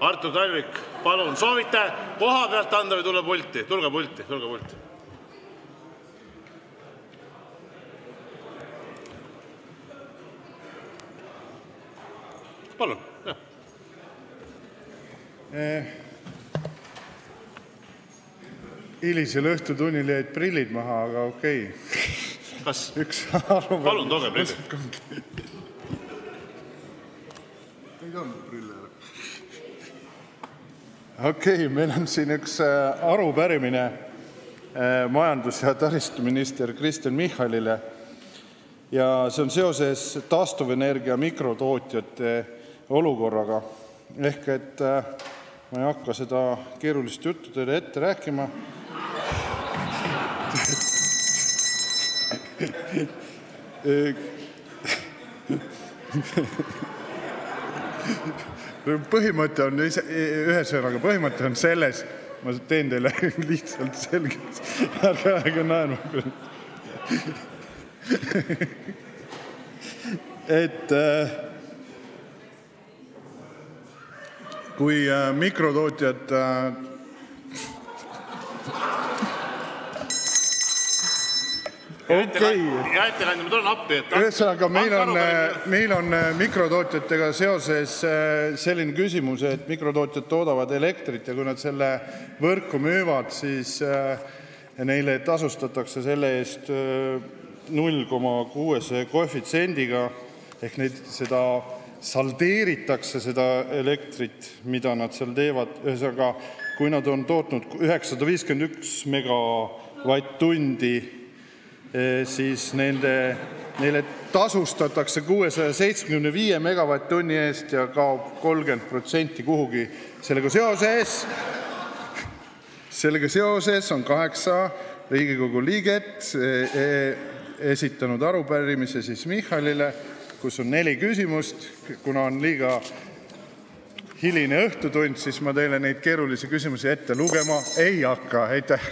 Artur Talvik, palun, soovite koha pealt anda või tulla pulti? Tulge pulti, tulge pulti. Palun, jah. Hilisel õhtutunnil jäid prillid maha, aga okei. Kas? Üks aru... Palun, tooge prillid. Ei olnud prille. Okei, meil on siin üks arupärimine majandus- ja taristuminister Kristen Michalile. Ja see on seoses taastuvenergia mikrotootjate olukorraga. Ehk et ma ei hakka seda keerulist juttu teile ette rääkima. Põhimõte on ühesõnaga, põhimõte on selles, ma teen teile lihtsalt selgeks, ärge naerma. Et kui mikrotootjad Ja ettekandja, ma tulen appi. Ühesõnaga, meil on mikrotootjatega seoses selline küsimus, et mikrotootjad toodavad elektrit ja kui nad selle võrku müüvad, siis neile tasustatakse selle eest 0,6 koefitsiendiga ehk seda saldeeritakse seda elektrit, mida nad seal teevad. Ühesõnaga, kui nad on tootnud 951 megavatt-tundi, siis neile tasustatakse 675 megavatt-tunni eest ja kaob 30% kuhugi. Sellega seoses on 8 Riigikogu liiget esitanud arupärimise siis Michalile, kus on 4 küsimust. Kuna on liiga hiline õhtutund, siis ma teile neid keerulisi küsimusi ette lugema ei hakka. Aitäh!